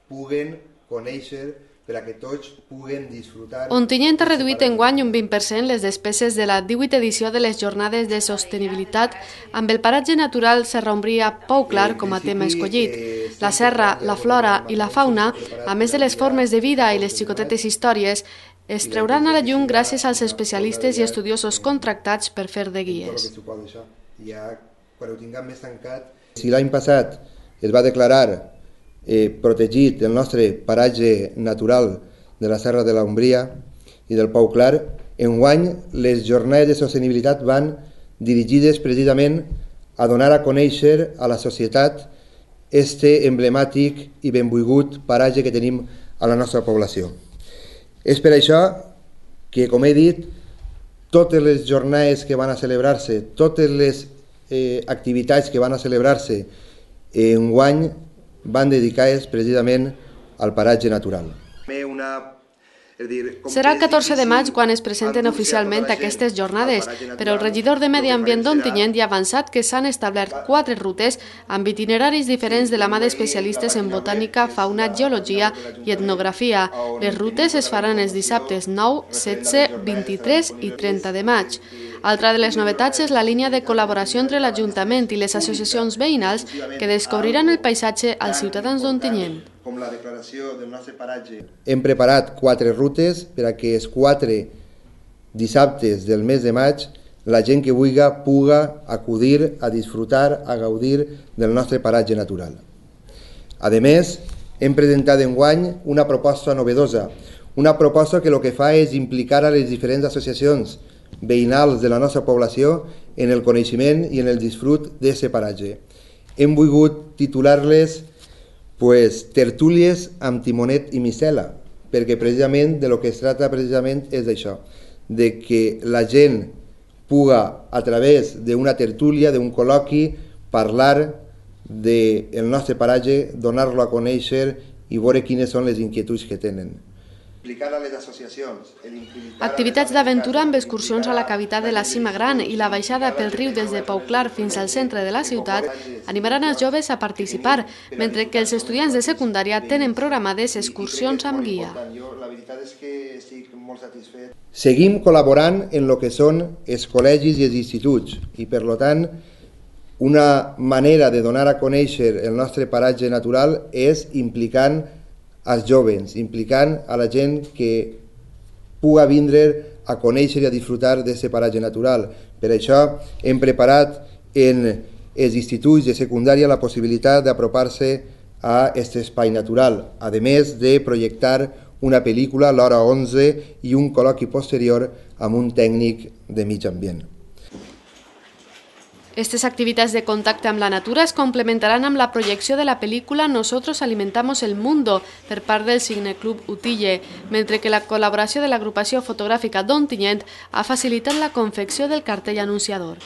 puguen conèixer, per a que tots puguen disfrutar... Ontinyent ha reduït enguany un 20% les despeses de la 18ª edició de les Jornades de Sostenibilitat amb el paratge natural Serra Umbria Pou Clar com a tema escollit. La serra, la flora i la fauna, a més de les formes de vida i les xicotetes històries, es trauran a la llum gràcies als especialistes i estudiosos contractats per fer de guies. Quan ho tinguem més tancat... Si l'any passat es va declarar protegit el nostre paratge natural de la Serra de l'Umbria i del Pou Clar, enguany les jornades de sostenibilitat van dirigides precisament a donar a conèixer a la societat este emblemàtic i benvolgut paratge que tenim a la nostra població. És per això que, com he dit, totes les jornades que van a celebrar-se, totes les activitats que van a celebrar-se enguany van dedicades precisament al paratge natural. Serà el 14 de maig quan es presenten oficialment aquestes jornades, però el regidor de Medi Ambient d'Ontinyent ja ha avançat que s'han establert 4 rutes amb itineraris diferents de la mà d'especialistes en botànica, fauna, geologia i etnografia. Les rutes es faran els dissabtes 9, 16, 23 i 30 de maig. Altra de les novetats és la línia de col·laboració entre l'Ajuntament i les associacions veïnals que descobriran el paisatge als ciutadans d'Ontinyent. Hem preparat 4 rutes per a que els 4 dissabtes del mes de maig la gent que vulgui puga acudir a disfrutar, a gaudir del nostre paratge natural. A més, hem presentat enguany una proposta novedosa, una proposta que el que fa és implicar a les diferents associacions veïnals de la nostra població en el coneixement i en el disfrut d'aquest paratge. Hem volgut titular-les tertúlies amb timonet i micela, perquè precisament de lo que es tracta precisament és d'això, de que la gent puga a través d'una tertúlia, d'un col·loqui, parlar del nostre paratge, donar-lo a conèixer i veure quines són les inquietuds que tenen. Activitats d'aventura amb excursions a la cavitat de la Cima Gran i la baixada pel riu des de Pou Clar fins al centre de la ciutat animaran els joves a participar, mentre que els estudiants de secundària tenen programades excursions amb guia. Seguim col·laborant en el que són els col·legis i els instituts i, per tant, una manera de donar a conèixer el nostre paratge natural és implicant als joves, implicant a la gent que puga vindre a conèixer i a disfrutar d'aquest paratge natural. Per això hem preparat en els instituts de secundària la possibilitat d'apropar-se a aquest espai natural, a més de projectar una pel·lícula a l'hora 11 i un col·loqui posterior amb un tècnic de mig ambient. Aquestes activitats de contacte amb la natura es complementaran amb la projecció de la pel·lícula Nosotros alimentamos el mundo per part del Cineclub Utille, mentre que la col·laboració de l'agrupació fotogràfica d'Ontinyent ha facilitat la confecció del cartell anunciador.